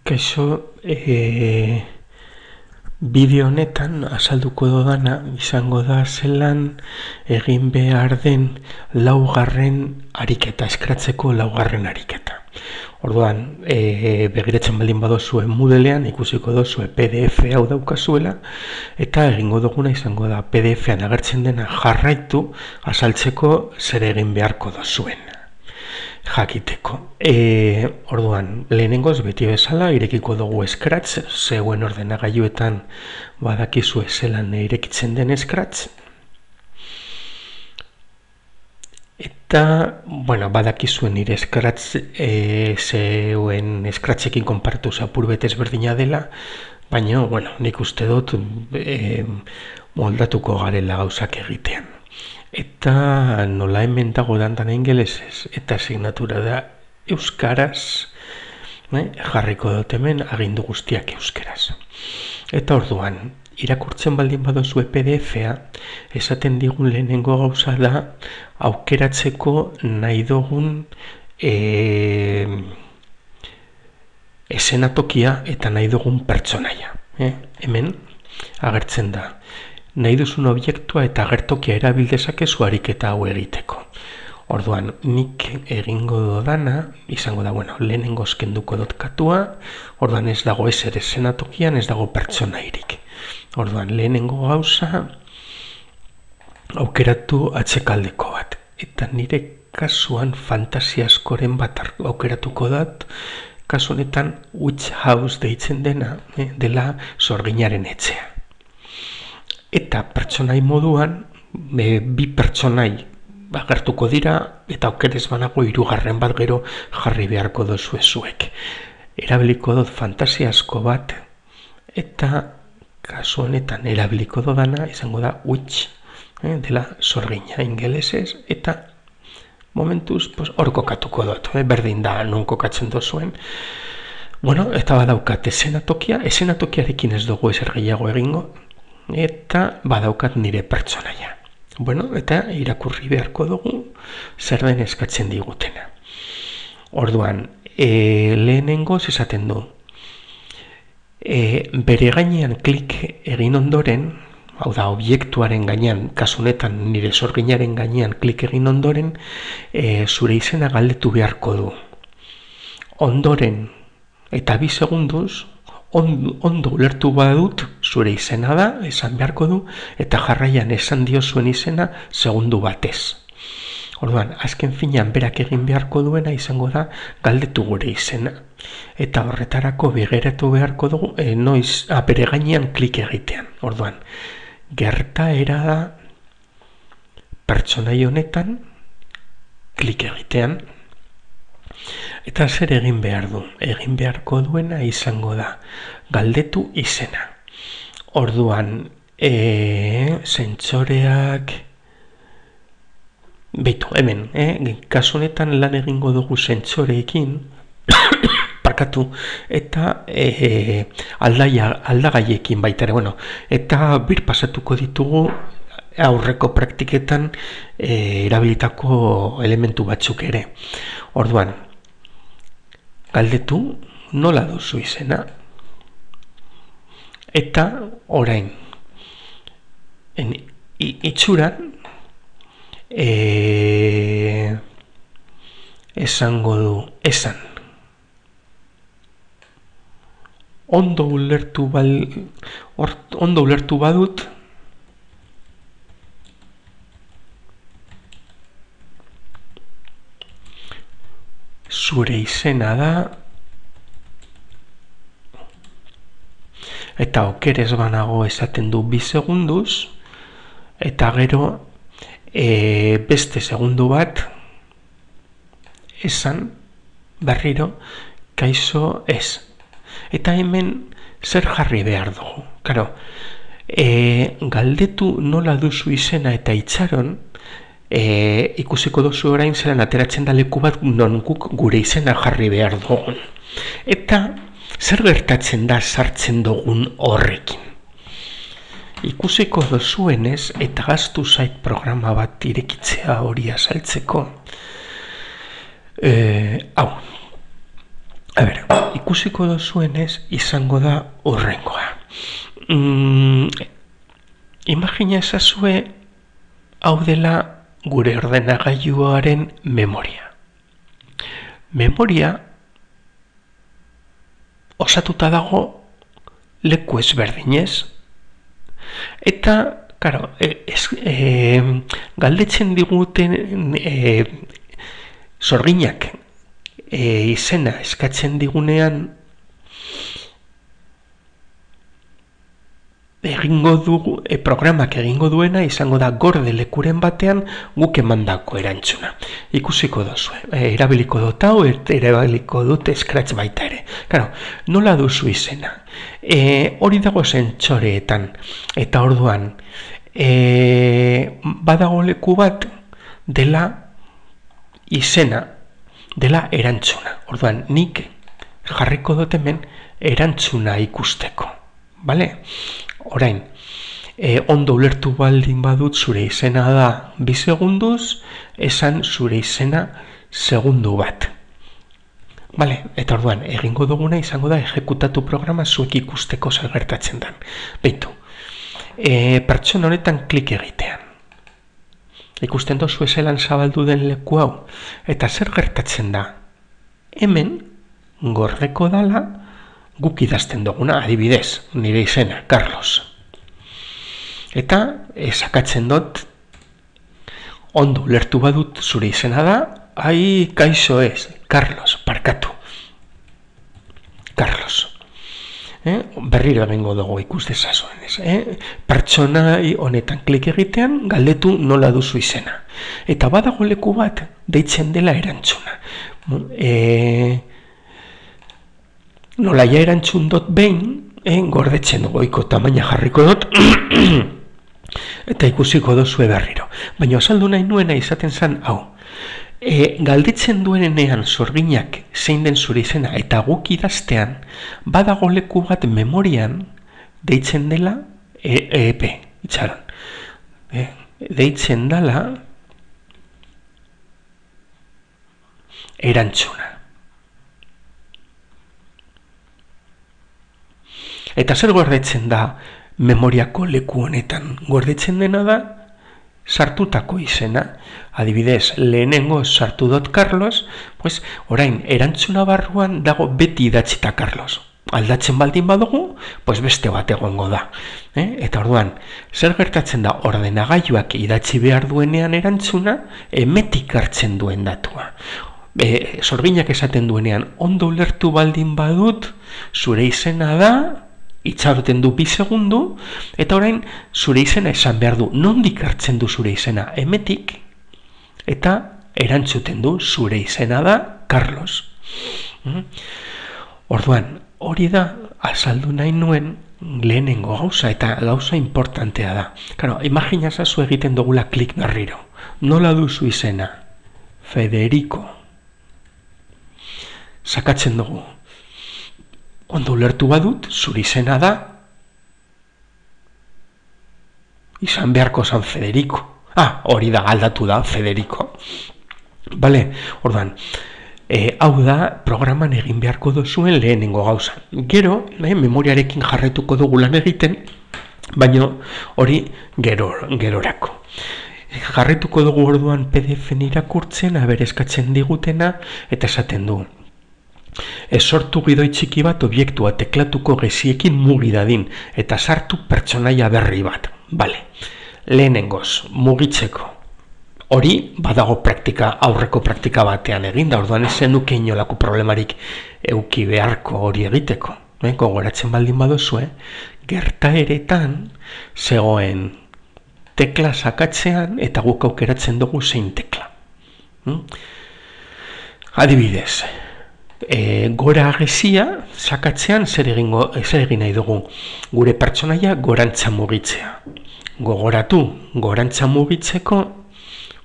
Kaixo, bideo honetan azalduko dodana izango da zelan egin behar den laugarren ariketa, eskratzeko laugarren ariketa. Orduan, begiratzen baldin badozue Moodlean ikusiko dozue PDF hau daukazuela, eta egingo duguna izango da PDF-an agertzen dena jarraitu azaltzeko zer egin beharko dozuen jakiteko. Orduan, lehenengoz beti bezala irekiko dugu Scratch, zeuen ordenagailuetan badakizue zelan irekitzen den Scratch. Eta, badakizuen nire Scratch zeuen Scratchekin konparatu apur bet ezberdina dela, baina, nik uste dut moldatuko garela gauzak egitean. Eta nola hemen dago dandan ingelesez eta asignatura da euskaraz, jarriko dut hemen agindu guztiak euskaraz. Eta orduan, irakurtzen baldin badozue PDF-a, esaten digun lehenengo gauza da aukeratzeko nahi dugun eszenatokia eta nahi dugun pertsonaia. Hemen agertzen da. Nahi duzun obiektua eta agertokia erabildezakezu ariketa hau egiteko. Orduan, nik egingo dodana, izango da, lehenengoz kenduko dut katua, orduan ez dago ezer eszenatokian, ez dago pertsonairik. Orduan, lehenengo gauza, aukeratu atzekaldeko bat. Eta nire kasuan fantasia askoren bat aukeratuko dut, kasu honetan Witch House deitzen dena, dela sorginaren etxea. Eta pertsonai moduan, bi pertsonai agertuko dira, eta aukerez banago hirugarren bat gero jarri beharko dozue zuek. Erabiliko dut fantasia asko bat, eta kasu honetan erabiliko dodana izango da witch, dela sorgina ingelesez, eta momentuz hor kokatuko dut, berdin da non kokatzen dozuen. Eta badaukat eszenatokiarekin ez dugu ezer gehiago egingo, eta badaukat nire pertsonaia. Eta irakurri beharko dugu zer den eskatzen digutena. Orduan, lehenengoz esaten du. Bere gainean klik egin ondoren, hau da, obiektuaren gainean, kasunetan nire sorginaren gainean klik egin ondoren, zure izena galdetu beharko du. Ondoren, eta 2 segunduz, ondo ulertu badut, zure izena da, esan beharko du, eta jarraian esan dio zuen izena segundu batez. Orduan, azken finean berak egin beharko duena izango da galdetu gure izena. Eta horretarako begiratu beharko dugu, bere gainean klik egitean. Orduan, gertaera da pertsonai honetan klik egitean. Eta zer egin behar du? Egin beharko duena izango da galdetu izena. Orduan, sentsoreak... Beitu, hemen, kasu honetan lan egingo dugu sentsoreekin, parkatu, eta aldagaiekin baita ere, eta pasatuko ditugu aurreko praktiketan erabilitako elementu batzuk ere. Orduan, galdetu nola duzu izena, eta orain itxuran esango du esan. Ondo ulertu badut, zure izena da, eta okerez banago esaten du 2 segunduz, eta gero beste segundu bat esan berriro kaixo ez. Eta hemen zer jarri behar dugu. Karo, galdetu nola duzu izena eta itxaron, ikusiko duzu orain zelan ateratzen da leku bat non guk gure izena jarri behar dugun. Eta zer gertatzen da sartzen dugun horrekin. Ikusiko duzuenez eta gaztu zait programa bat irekitzea hori azaltzeko. A ber, ikusiko dozuenez izango da horrengoa. Imagina ezazue hau dela gure ordenagailuaren memoria. Memoria osatuta dago leku ezberdinez. Eta, karo, galdetzen diguten sorginak izena eskatzen digunean egingo dugu, programak egingo duena izango da gorde lekuren batean guk emandako erantzuna. Ikusiko duzu, erabiliko dut hau, erabiliko dut Scratch baita ere. Claro, nola duzu izena? Hori dago sentsoreetan, eta orduan, badago leku bat dela izena, dela erantzuna. Orduan, nik jarriko dut hemen erantzuna ikusteko. Bale? Orain, ondo ulertu baldin badut zure izena da 2 segunduz, esan zure izena segundu bat. Bale, eta orduan, egingo duguna izango da ejekutatu programa zuek ikusteko zer gertatzen den. Beitu, pertsona honetan klik egitean. Ikusten dozu ezelan zabaldu den leku hau, eta zer gertatzen da? Hemen, gordeko dala, guk idazten duguna, adibidez, nire izena, Carlos. Eta sakatzen dut, ondo ulertu badut zure izena da, kaixo ez, Carlos, parkatu. Carlos. Berriro egingo dugu ikus dezazuen ez. Pertsona honetan klik egitean, galdetu nola duzu izena. Eta badago leku bat, deitzen dela erantzuna. Nola ja erantzun dut behin, gordetzen goiko tamaina jarriko dut, eta ikusiko dozue berriro. Baina azaldu nahi nuena izaten zen, hau, galdetzen duenean sorginak zein den zure izena, eta guk idaztean, badago leku bat memorian, deitzen dela, itxaron, deitzen dela, erantzuna. Eta zer gordetzen da memoriako leku honetan? Gordetzen dena da sartutako izena. Adibidez, lehenengo sartu dut Carlos, pues, orain erantzuna barruan dago beti idatzita Carlos. Aldatzen baldin badugu, pues beste bat egongo da. Eta orduan, zer gertatzen da ordenagailuak idatzi behar duenean erantzuna, emetik hartzen duen datua. Sorginak esaten duenean, ondo ulertu baldin badut, zure izena da, itxaroten du 2 segundu, eta orain zure izena esan behar du. Nondik hartzen du zure izena? Emetik, eta erantzuten du zure izena da Carlos. Orduan, hori da azaldu nahi nuen lehenengo gauza, eta gauza importantea da. Claro, imagina zazu egiten dugula klik berriro. Nola duzu izena? Federico. Sakatzen dugu. Ondo ulertu badut, zure izena da, izan beharko zan Federico. Hori da, aldatu da, Federico. Bale, orduan, hau da, programan egin beharko duzuen lehenengo gauza. Gero, memoriarekin jarretuko dugu lan egiten, baina hori gerorako. Jarretuko dugu orduan PDF-en irakurtzen, eskatzen digutena, eta esaten du. Sortu gidoi txiki bat obiektua teklatuko geziekin mugi dadin, eta sartu pertsonaia berri bat. Bale, lehenengoz, mugitzeko. Hori, badago aurreko praktika batean egin, da orduan ezen duke inolako problemarik euki beharko hori egiteko. Gogoratzen baldin baduzue, gertaeretan zegoen tekla sakatzean, eta guk aukeratzen dugu zein tekla. Adibidez, gora agezia sakatzean zer egin nahi dugu, gure pertsonaia gorantza mugitzea. Gogoratu, gorantza mugitzeko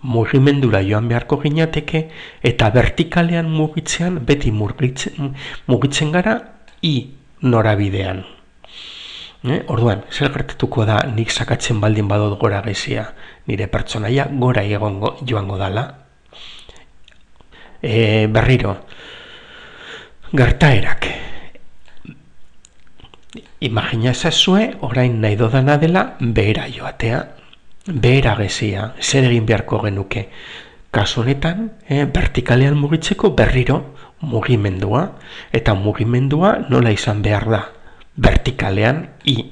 mugimendura joan beharko ginateke, eta vertikalean mugitzean beti mugitzen gara norabidean. Orduan, zer gertatuko da nik sakatzen baldin badot gora agezia, nire pertsonaia gora joango dala. Berriro, gertaerak. Imagina ezazue, orain nahi dodana dela behera joatea. Behera gezia, zer egin beharko genuke. Kasu honetan, vertikalean mugitzeko berriro mugimendua. Eta mugimendua nola izan behar da? Vertikalean I.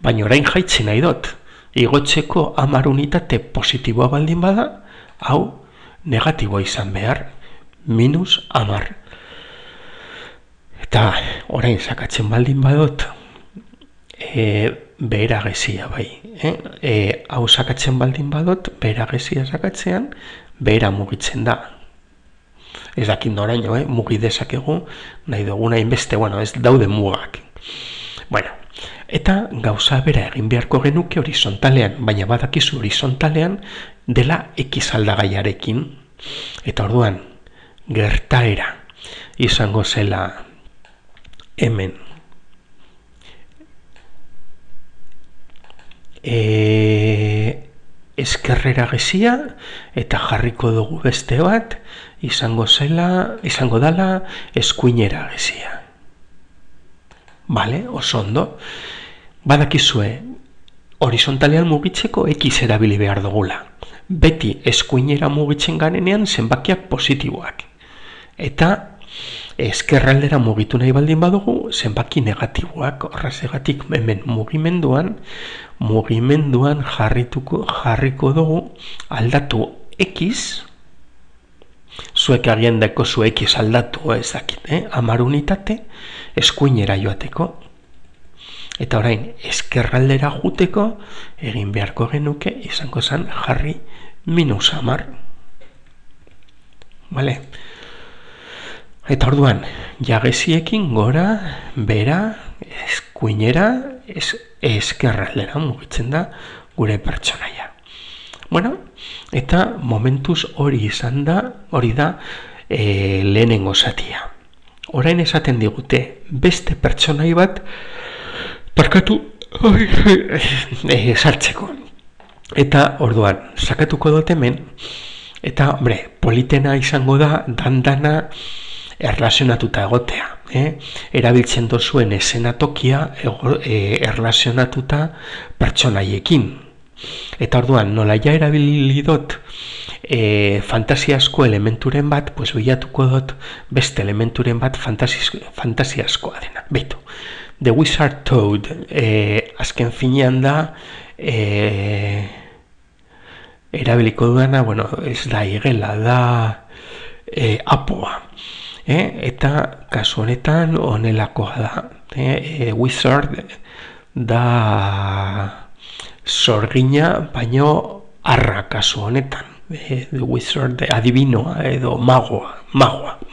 Baina orain jaitsi nahi dut. Igotzeko 10 unitate positiboa baldin bada, hau negatiboa izan behar. -10. Eta orain sakatzen baldin badot, behera gezia bai. Hau sakatzen baldin badot, behera gezia sakatzean, behera mugitzen da. Ez dakit noraino, mugi dezakegu, nahi duguna inbeste, ez daude mugak. Eta gauza bera egin beharko genuke horizontalean, baina badakizu horizontalean dela X aldagaiarekin. Eta orduan, gertaera izango zela hemen eskerrera gezia eta jarriko dugu beste bat izango dela eskuinera gezia. Bale, oso ondo. Badakizue, horizontalean mugitzeko X erabili behar dugula. Beti eskuinera mugitzen garenean zenbakiak positiboak. Eta eskerraldera mugitu nahi baldin badugu zenbaki negatiboak. Horregatik hemen mugimenduan jarriko dugu aldatu X. Zuek agian dako zu X aldatu ez dakit, 10 unitate eskuinera joateko. Eta orain eskerraldera juteko egin beharko genuke izango zen jarri -10. Vale? Eta orduan, jageziekin gora, bera, eskuinera, eskerraldera mugitzen da gure pertsonaia. Eta momentuz hori da lehenengo zatia. Orain esaten digute, beste pertsonai bat parkatu sartzeko. Eta orduan, sakatuko dut hemen, eta, politena izango da dandana erlazionatuta egotea. Erabiltzen dozuen eszenatokia erlazionatuta pertsonaiekin. Eta orduan, nola ja erabili dut fantasiasko elementuren bat, bilatuko dut beste elementuren bat fantasiaskoa dena. Beitu, The Wizard Toad azken finean da erabiliko duena, ez da igela, da apoa. Eta kasu honetan honelakoa da. Wizard da sorgina, baino arra kasu honetan. The Wizard adibinoa edo magoa,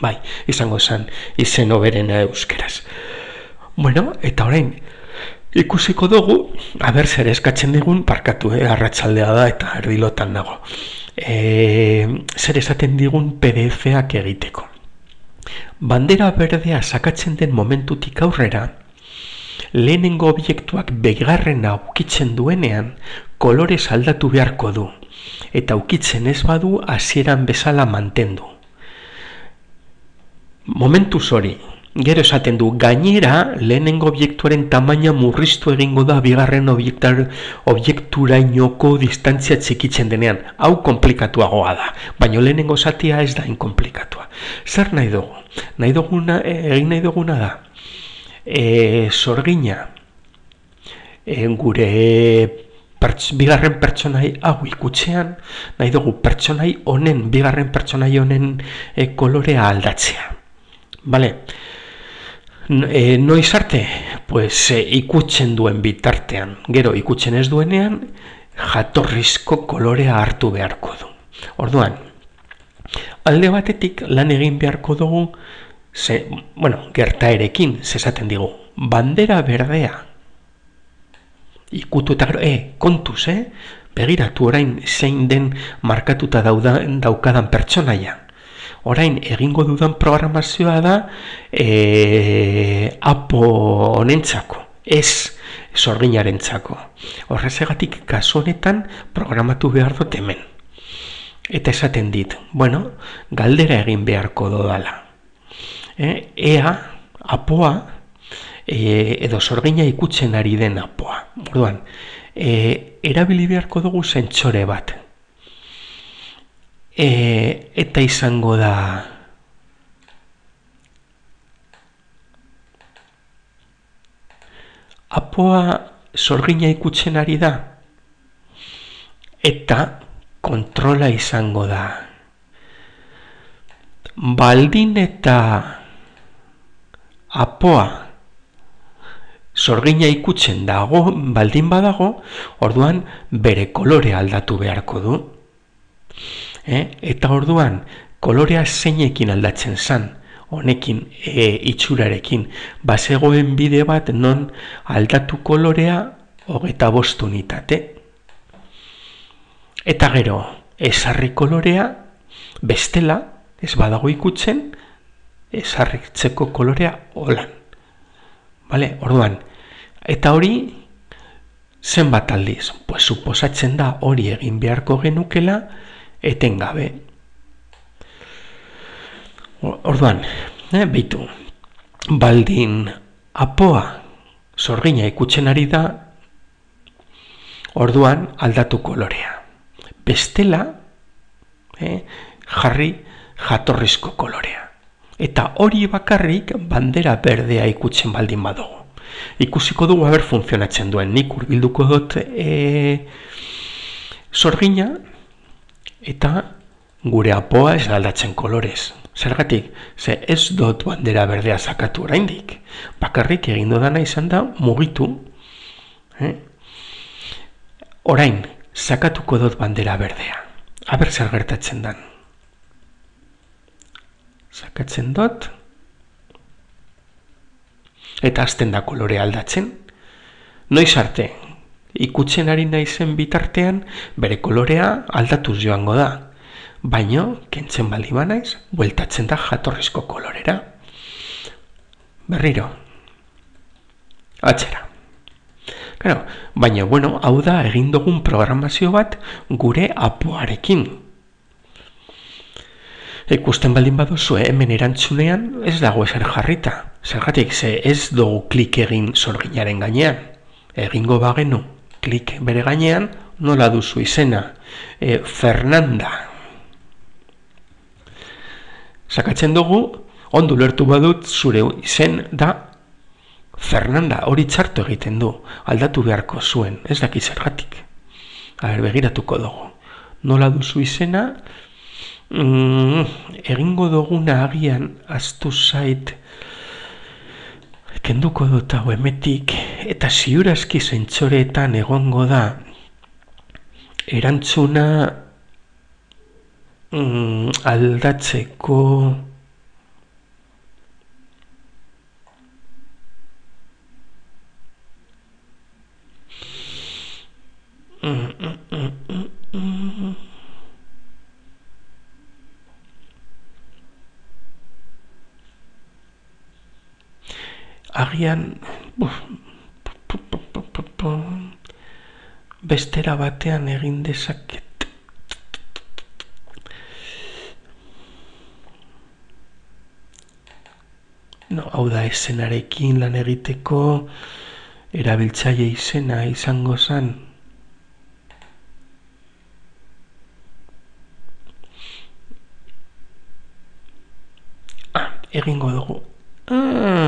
bai, izango zen izen hoberena euskeraz. Eta orain, ikusiko dugu, zer eskatzen digun, parkatu, arratsaldea da eta erdilotan nago. Zer esaten digun PDF-ak egiteko. Bandera berdea sakatzen den momentutik aurrera, lehenengo objektuak bigarrena ukitzen duenean, kolorez aldatu beharko du. Eta ukitzen ez badu hasieran bezala mantendu. Momentuz hori, gero esaten du, gainera lehenengo objektuaren tamaina murriztu egingo da bigarren objekturainoko distantzia txikitzen denean. Hau komplikatuagoa da, baina lehenengo zatia ez da inkomplikatua. Zer nahi dugu? Egin nahi duguna da, sorgina gure bigarren pertsonai hau ikutzean, nahi dugu pertsonai honen, bigarren pertsonai honen kolorea aldatzea. Bale? Noiz arte? Ikutzen duen bitartean. Gero ikutzen ez duenean, jatorrizko kolorea hartu beharko du. Orduan, alde batetik lan egin beharko dugu, gertaerekin, zesaten digu, bandera berdea. Ikutu eta gero, kontuz, begiratu orain zein den markatuta daukadan pertsonaia. Orain egingo dudan programazioa da apo honentzako, ez sorginarentzako. Horrezegatik kasu honetan programatu behar dut hemen. Eta esaten dit, galdera egin beharko dodala. ea apoa edo sorgina ikutzen ari den apoa. Orduan, erabili beharko dugu sentsore bat. Eta izango da apoa sorgina ikutzen ari da eta kontrola izango da. Baldin eta apoa sorgina ikutzen dago, baldin badago, orduan bere kolorea aldatu beharko du. Eta orduan kolorea zeinekin aldatzen zan, honekin itxurarekin, bazegoen bide bat non aldatu kolorea 25 unitate. Eta gero, ezarri kolorea, bestela, ez badago ikutzen, ezarritzeko kolorea holan. Vale? Orduan, eta hori zenbat aldiz? Pues suposatzen da hori egin beharko genukela etengabe. Orduan, beitu, baldin apoa sorgina ikutzen ari da, orduan aldatu kolorea. Bestela, jarri jatorrizko kolorea. Eta hori bakarrik bandera berdea ikutzen baldin badugu. Ikusiko dugu haber funtzionatzen duen. Nik hurbilduko dut sorgina eta gure apoa ez aldatzen kolorez. Zergatik, ze ez dut bandera berdea sakatu oraindik. Bakarrik egin dudana izan da mugitu. Orain, sakatuko dut bandera berdea. Aber zer gertatzen dan. Sakatzen dut. Eta hasten da kolorea aldatzen. Noiz arte, ikutzen ari naizen bitartean, bere kolorea aldatuz joango da. Baino, kentzen baldin banaiz, bueltatzen da jatorrizko kolorera. Berriro. Atzera. Claro, baina, bueno, hau da egin dugun programazio bat gure apoarekin. Ikusten baldin baduzu, hemen erantzunean ez dago ezer jarrita. Zergatik, ze ez dugu klik egin sorginaren gainean. Egingo bagenu klik bere gainean, nola duzu izena? Fernanda. Sakatzen dugu, ondo lertu badut zure izen da Fernanda, hori txartu egiten du, aldatu beharko zuen, ez daki zergatik. Begiratuko dugu. Nola duzu izena, egingo duguna agian aztu zait, kenduko dut hau emetik, eta ziurazki zentsoreetan egongo da, erantzuna aldatzeko agian bestera batean egin dezaket. No, hau da izenarekin lan egiteko erabiltzaile izena izango zen. Egingo dugu.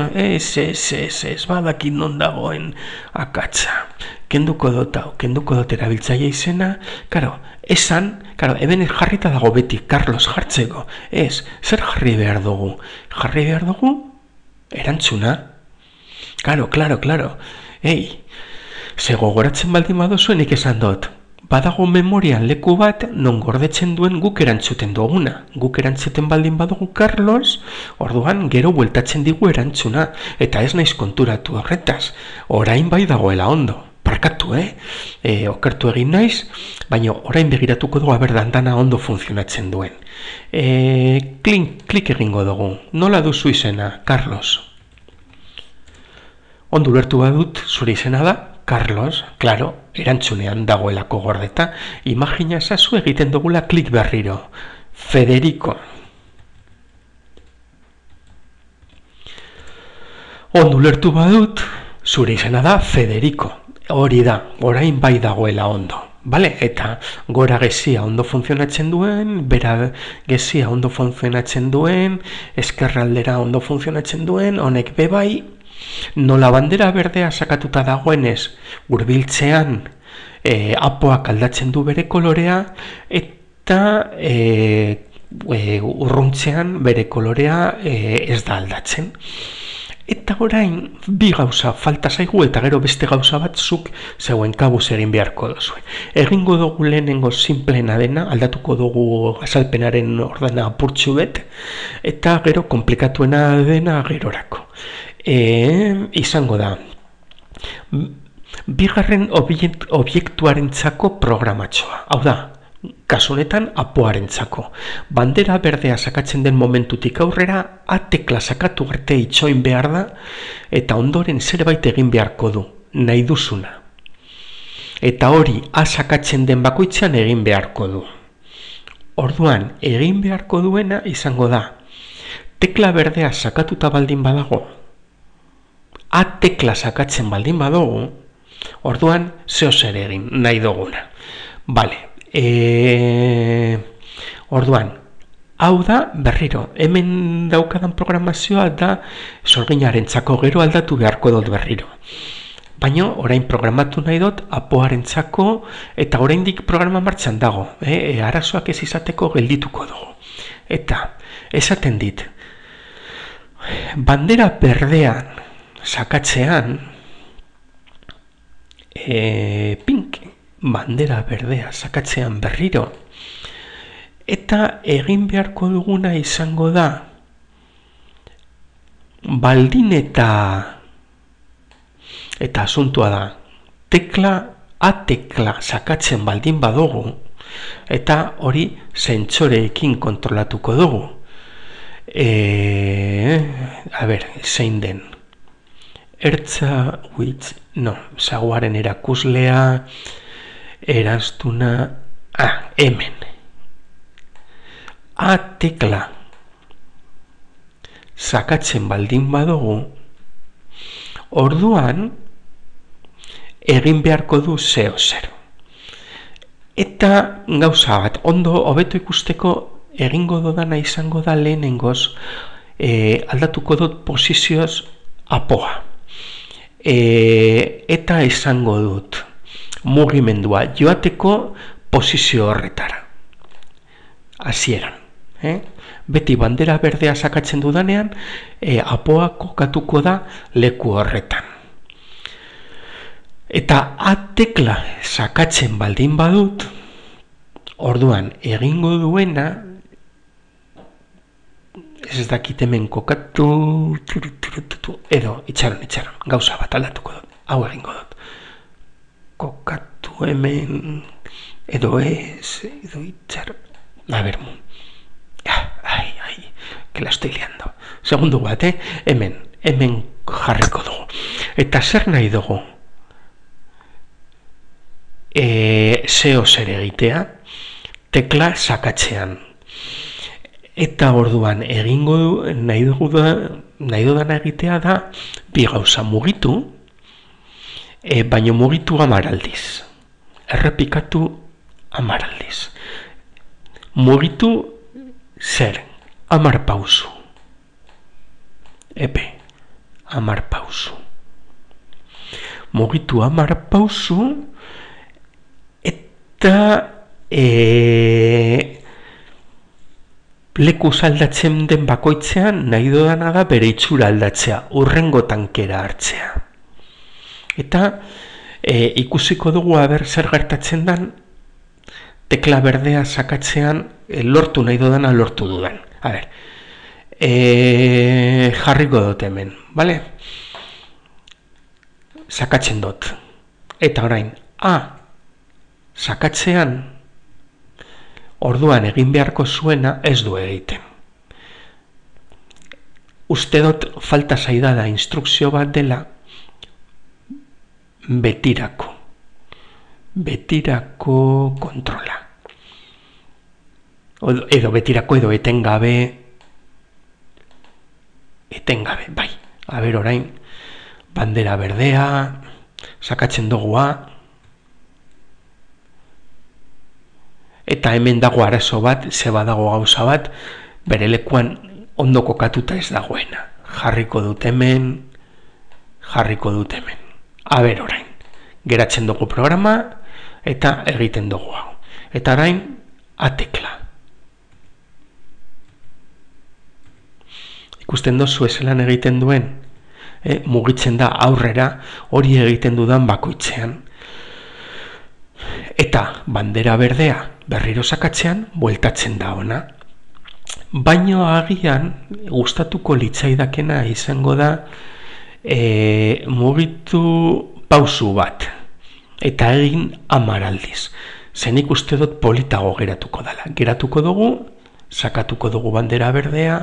Ez badakit non dagoen akatsa. Kenduko dut erabiltzaile izena. Karo, eben jarrita dago beti Carlos jartzeko. Ez, zer jarri behar dugu? Jarri behar dugu? Erantzuna. Claro. Ze gogoratzen baldin baduzu nik esan dut. Badago memorian leku bat non gordetzen duen guk erantzuten duguna. Guk erantzuten baldin badugu Carlos, orduan gero bueltatzen digu erantzuna. Eta ez naiz konturatu horretaz. Orain bai dagoela ondo. Parkatu, okertu egin naiz, baina orain begiratuko dugu aberdandana ondo funtzionatzen duen. Klik egingo dugu. Nola duzu izena, Carlos? Ondo ulertu badut zure izena da, Carlos, claro, erantzunean dagoelako gordeta. Imagina ezazu egiten dugula klik berriro. Federico. Ondo ulertu badut, zure izena da Federico. Hori da, orain bai dagoela ondo. Vale? Eta gora gezia ondo funtzionatzen duen, bera gezia ondo funtzionatzen duen, eskerraldera ondo funtzionatzen duen, honek bebai, nola bandera berdea sakatuta dagoenez, hurbiltzean apoak aldatzen du bere kolorea, eta urruntzean bere kolorea ez da aldatzen. Eta orain, bi gauza falta zaigu eta gero beste gauza batzuk zeuen kabuz egin beharko duzu. Egingo dugu lehenengo simplena dena, aldatuko dugu azalpenaren ordena apurtxu bet, eta gero komplikatuena dena gerorako. Izango da, bigarren obiektuarentzako programatxoa. Hau da, kasu honetan apoarentzako. Bandera berdea sakatzen den momentutik aurrera, A-tekla sakatu arte itxoin behar da, eta ondoren zerbait egin beharko du, nahi duzuna. Eta hori A sakatzen den bakoitzean egin beharko du. Orduan, egin beharko duena izango da, tekla berdea sakatuta baldin badago, A-tekla sakatzen baldin badago, orduan zeo zer egin nahi duguna. Bale. Orduan, hau da berriro, hemen daukadan programazioa da sorginarentzako, gero aldatu beharko dut berriro. Baina orain programatu nahi dut apoarentzako eta oraindik programa martxan dago, arazoak ez izateko geldituko dugu. Eta esaten dit, bandera berdean sakatzean pink bandera berdea sakatzean berriro, eta egin beharko duguna izango da baldin eta asuntua da A-tekla sakatzen baldin badugu, eta hori zentsoreekin kontrolatuko dugu. Zein den ertza, zaguaren erakuslea, eraztuna, hemen. A-tekla sakatzen baldin badugu, orduan egin beharko du zeo zer. Eta gauza bat, ondo hobeto ikusteko egingo dodana izango da lehenengoz, aldatuko dut posizioz apoa. Eta izango dut mugimendua joateko posizio horretara. Hasieran. Beti bandera berdea sakatzen dudanean, apoa kokatuko da leku horretan. Eta A-tekla sakatzen baldin badut, orduan egingo duena, ez dakit hemen kokatu, edo itxaron, gauza bat aldatuko dut, hau egingo dut. Kokatu hemen, edo ez, edo itxaron, que la estoy liando. Segundu bat, hemen jarriko dugu. Eta zer nahi dugu? Zeo zer egitea, tekla sakatzean. Eta orduan egingo du, nahi dudan egitea da, bi gauza mugitu, baino mugitu 10 aldiz. Errepikatu 10 aldiz. Mugitu zer? 10 pausu. 10 pausu. Mugitu 10 pausu, eta leku aldatzen den bakoitzean nahi dudana da bere itxura aldatzea, hurrengo tankera hartzea. Eta ikusiko dugu aber zer gertatzen dan, tekla berdea sakatzean lortu nahi dudana lortu dudan. Jarriko dut hemen, bale? Sakatzen dut. Eta orain, sakatzean, orduan egin beharko zuena ez du egiten. Uste dut falta zaidala instrukzio bat dela betirako kontrola. Edo betirako edo etengabe, bai. Orain, bandera berdea, sakatzen dugua, eta hemen dago arazo bat, zeba dago gauza bat, bere lekuan ondo kokatuta ez dagoena. Jarriko dut hemen. Aber orain, geratzen dugu programa, eta egiten dugu hau. Eta orain, atekla. Ikusten dozu ezelan egiten duen, mugitzen da aurrera, hori egiten dudan bakoitzean. Eta bandera berdea berriro sakatzean, bueltatzen da ona. Baino agian, gustatuko litzaidakena izango da, mugitu pausu bat. Eta egin 10 aldiz. Zenik uste dut politago geratuko dela. Geratuko dugu, sakatuko dugu bandera berdea,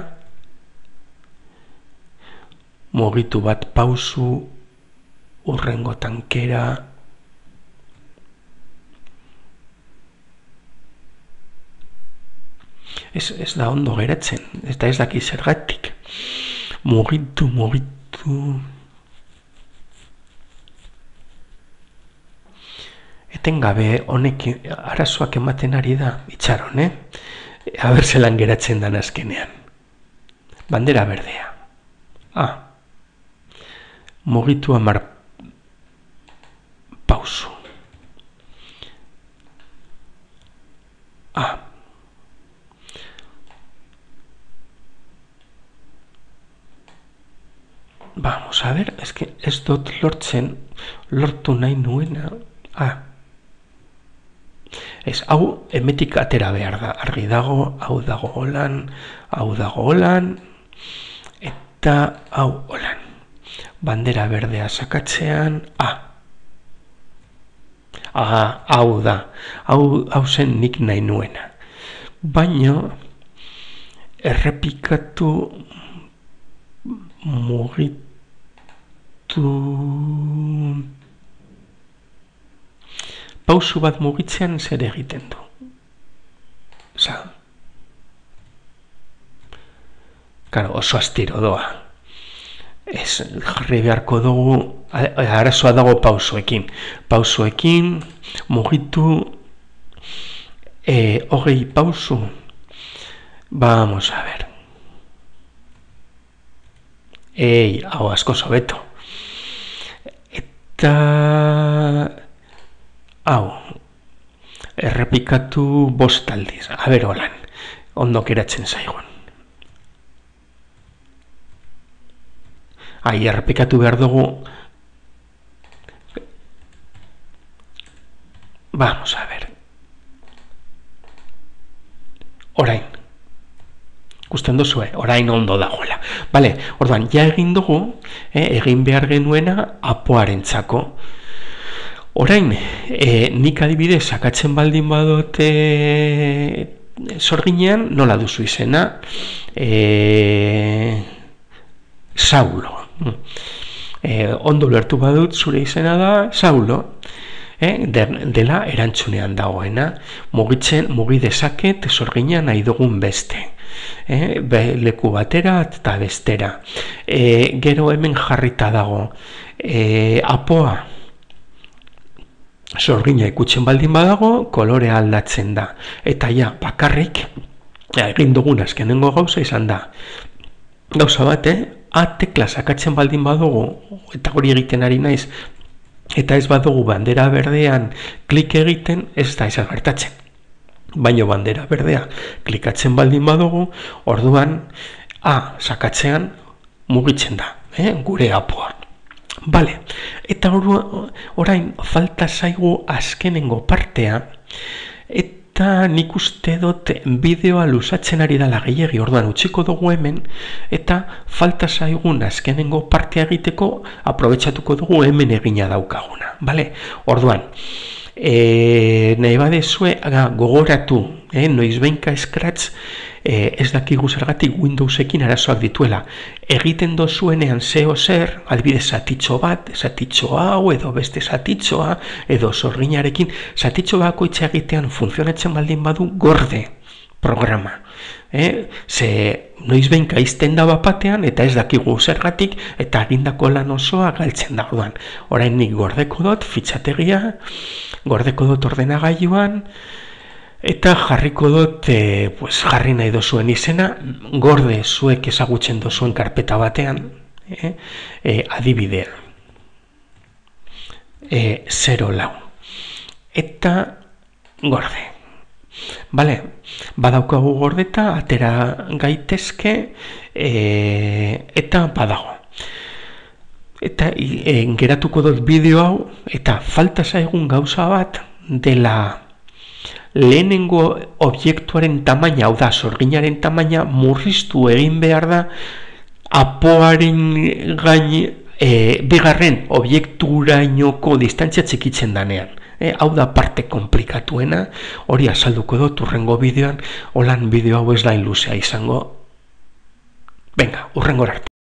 mugitu bat pausu, urrengo tankera, ez da ondo geratzen, eta ez daki zergatik. Mugitu. Etengabe honek arazoak ematen ari da, itxaron, Aber zelan geratzen dan azkenean. Bandera berdea. Mugitu 10 pausu. Vamos a ver, es que ez dut lortu nahi nuena. Ez, hau emetik atera behar da. Argi dago, hau dago holan, eta hau holan. Bandera berdea sakatzean, hau da. Hau zen nik nahi nuena. Baino, errepikatu, mugitu, pausu bat mugitzean zer egiten du. Oso astiro doa. Ez jarri beharko dugu, arazoa dago pausuekin. Pausuekin, mugitu, 20 pausu. Vamos a ver. Hau asko sobeto. Eta hau errepikatu 5 aldiz. Aber holan, ondo geratzen zaigun. Errepikatu behar dugu. Vamos a ver. Orain. Gusten duzue, orain ondo dagoela. Bale, orduan, ja egin dugu, egin behar genuena apoarentzako. Orain, nik adibidez sakatzen baldin badote sorginean, nola duzu izena? Saulo. Ondo lertu badut, zure izena da Saulo. Dela erantzunean dagoena. Mugi dezaket sorginean nahi dugun beste. Leku batera eta bestera. Gero hemen jarrita dago. Apoa. Sorgina ikutzen baldin badago, kolorea aldatzen da. Eta bakarrik, egin dugun azkenengo gauza izan da. Gauza bat, tekla sakatzen baldin badugu, eta hori egiten ari naiz, eta ez badugu bandera berdean klik egiten, ez da izan gertatzen. Baino bandera berdea klikatzen baldin badugu, orduan, sakatzean mugitzen da, gure apoa. Bale, eta orain falta zaigu azkenengo partea, eta nik uste dut bideoa luzatzen ari dela gehiagi, orduan utziko dugu hemen, eta falta zaigun azkenengo partea egiteko aprobetxatuko dugu hemen egina daukaguna. Bale, orduan, nahi badezue gogoratu, noizbehinka Scratch ez dakigu zergatik Windowsekin arazoak dituela. Egiten dozuenean zeo zer, adibidez zatitxo bat, zatitxo hau, edo beste zatitxoa, edo sorginarekin, zatitxo bakoitza egitean funtzionatzen baldin badu gorde programa. Ze noiz behinka izten da bapatean eta ez dakigu zergatik eta egindako lan osoa galtzen da. Orain nik gordeko dut fitxategia, gordeko dut ordenagailuan eta jarriko dut jarri nahi dozuen izena, gorde zuek ezagutzen dozuen karpeta batean, adibidea 04 eta gorde. Bale, badaukagu gordeta, atera gaitezke eta badago. Eta geratuko dut bideo hau, eta falta zaigun gauza bat dela lehenengo objektuaren tamaina, hau da, sorginaren tamaina murriztu egin behar da apoaren gain bigarren objekturainoko distantzia txikitzen danean. Hau da parte komplikatuena, hori azalduko dut urrengo bideoan, holan bideo hau ez da luzea izango. Venga, urrengora arte.